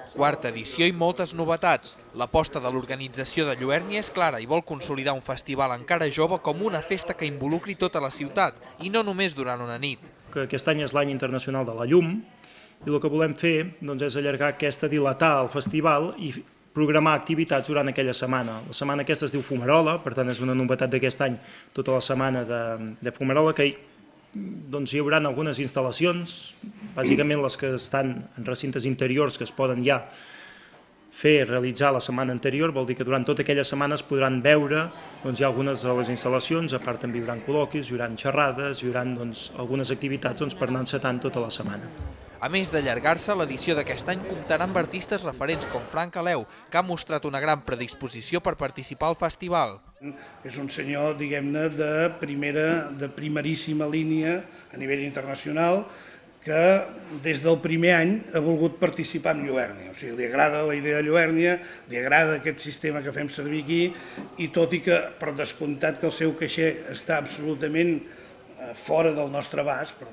Quarta edició i moltes novetats. L'aposta de l'organització de Lluernia és clara i vol consolidar un festival encara jove com una festa que involucri tota la ciutat, i no només durant una nit. Aquest any és l'any internacional de la llum i el que volem fer és allargar dilatar el festival i programar activitats durant aquella setmana. La setmana aquesta es diu Fumarola, per tant és una novetat d'aquest any, tota la setmana de Fumarola, que hi haurà algunes instal·lacions, bàsicament les que estan en recintes interiors que es poden ja realitzar la setmana anterior, vol dir que durant tota aquella setmana es podran veure hi ha algunes de les instal·lacions, a part també hi haurà col·loquis, hi haurà xerrades, hi haurà algunes activitats per anar encetant tota la setmana. A més d'allargar-se, l'edició d'aquest any comptarà amb artistes referents com Frank Aleu, que ha mostrat una gran predisposició per participar al festival. És un senyor, diguem-ne, de primeríssima línia a nivell internacional, que des del primer any ha volgut participar en Lluernia. O sigui, li agrada la idea de Lluernia, li agrada aquest sistema que fem servir aquí, i tot i que, per descomptat, que el seu caixer està absolutament fora del nostre abast,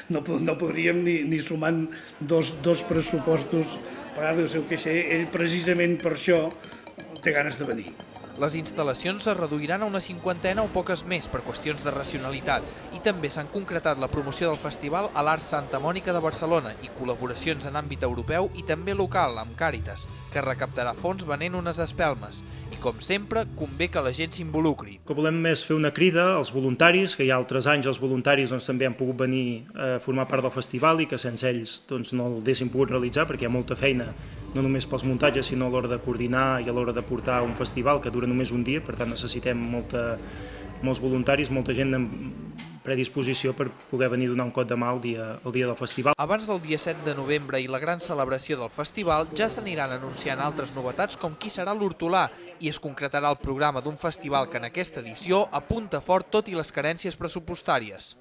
no podríem ni sumant dos pressupostos pagar-li el seu caixer, ell precisament per això té ganes de venir. Les instal·lacions es reduiran a una 50 o poques més per qüestions de racionalitat i també s'han concretat la promoció del festival a l'Art Santa Mònica de Barcelona i col·laboracions en àmbit europeu i també local amb Càritas, que recaptarà fons venent unes espelmes. I com sempre, convé que la gent s'involucri. El que volem és fer una crida als voluntaris, que hi ha altres anys els voluntaris també han pogut venir a formar part del festival i que sense ells no el haguéssim pogut realitzar perquè hi ha molta feina, no només pels muntatges, sinó a l'hora de coordinar i a l'hora de portar un festival que dura només un dia, per tant necessitem molts voluntaris, molta gent amb predisposició per poder venir a donar un cop de mà el dia del festival. Abans del dia 7 de novembre i la gran celebració del festival ja s'aniran anunciant altres novetats com qui serà l'hortolà i es concretarà el programa d'un festival que en aquesta edició apunta fort tot i les carències pressupostàries.